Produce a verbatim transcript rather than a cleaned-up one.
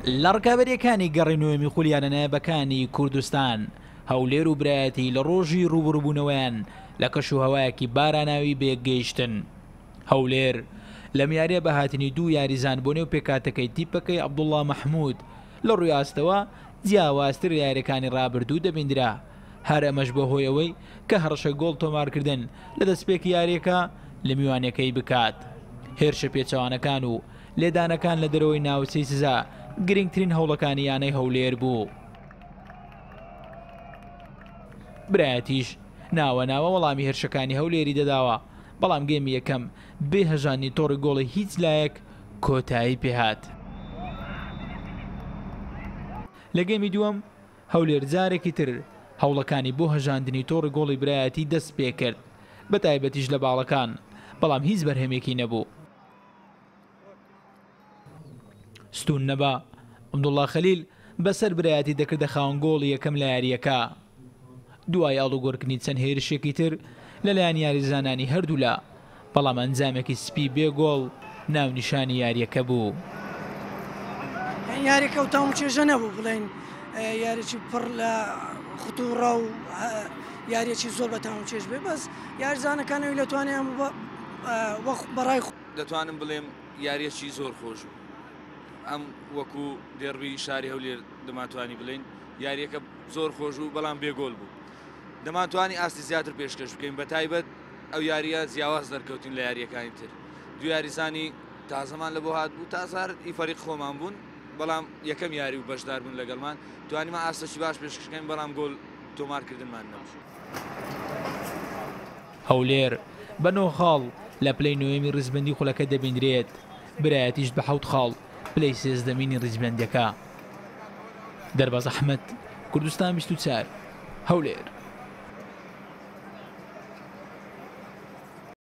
لە ڕکابەریەکانی گەڕی نۆیەمی خولی یانە نایابەکانی کوردستان، هەولێر و برایەتی لە ڕۆژی ڕووبەڕووبوونەوەیان لە کەش و هەوایەکی باراناوی بەیەکگەیشتن. هەولێر لەم یاریە بە هاتنی دوو یاریزان بۆ نێو پێکهاتەکەی تیپەکەی عەبدوڵڵا مەحمود لە ڕووی ئاستەوە جیاوازتر لە یاریەکانی ڕابردوو دەبیندرا، هەر ئەمەش بە هۆی ئەوەی کە هەڕەشەی گۆڵ تۆمارکردن لە دەستپێکی یاریەکە لە میوانەکەی بکات. هێرشە پێچەوانەکان و لێدانەکان لە دەرەوەی ناوچەی سزا گرنگترین هەوڵەکانی یانەی هەولێر بوو. برایەتیش ناوە ناوە وەڵامی هێرشەکانی هەولێری دەداوە، بەڵام گێمی یەکەم بێ هەژاندنی تۆڕی گۆڵی هیچ لایەک کۆتایی پێهات. لە گێمی دووەم هەولێر جارێکی تر هەوڵەکانی بۆ هەژاندنی تۆڕی گۆڵی برایەتی دەست پێکرد، بە تایبەتیش لە باڵەکان، بەڵام هیچ بەرهەمێکی نەبوو. ستون نەبا عەبدوڵڵا خەلیل بەسەر برایەتی دەکردە خاوەن گۆڵی یەکەم لە یاریەکە. دوای ئاڵوگۆڕکردنی چەند هێرشێکی تر لەلایەن یاریزانانی هەردوولا، بەڵام ئەنجامێکی سپی بێ گۆڵ ناونیشانی یاریەکە بوو. یاریەکە و تاوم چێژە نەبوو، بڵێن یاریی پڕ لە خطوڕە و یاریەکی زۆر بە تاوم چێژ بێ، بەس یاریزانەکانەوەی لە توانیان بەڕای دەتوانم بڵێم یاریەکی زۆر خۆش بوو. ئەم وەکو دێڕبی شاری هەولێر دەمانتوانی بڵێین یاریەکە زۆر خۆش بوو، بەڵام بێگۆل بوو. دەمانتوانی ئاستی زیاتر پێشکەش بکەین، بە تایبەت ئەو یاریە جیاواز دەرکەوتین لە یاریەکانی تر. دوو یاریزانی تازەمان لە بۆ هات بوو، تازار ئی فەریق خۆمان بوون، بەڵام یەکەم یاری و بەشدار بوون لەگەڵمان، توانیمان ئاستێکی باش پێشکەش بکەین، بەڵام گۆل تۆمارکردنمان نەبوو. هەولێر بە نۆ خاڵ لە پلەی نۆیەمی ڕیزبەندی خولەکە دەبیندرێت، برایەتیش بە حەوت خاڵ پلەی سێزدەمینی ڕیزبەندیەکە. دەرباز ئەحمەد، کوردستان بیست و چوار، هەولێر.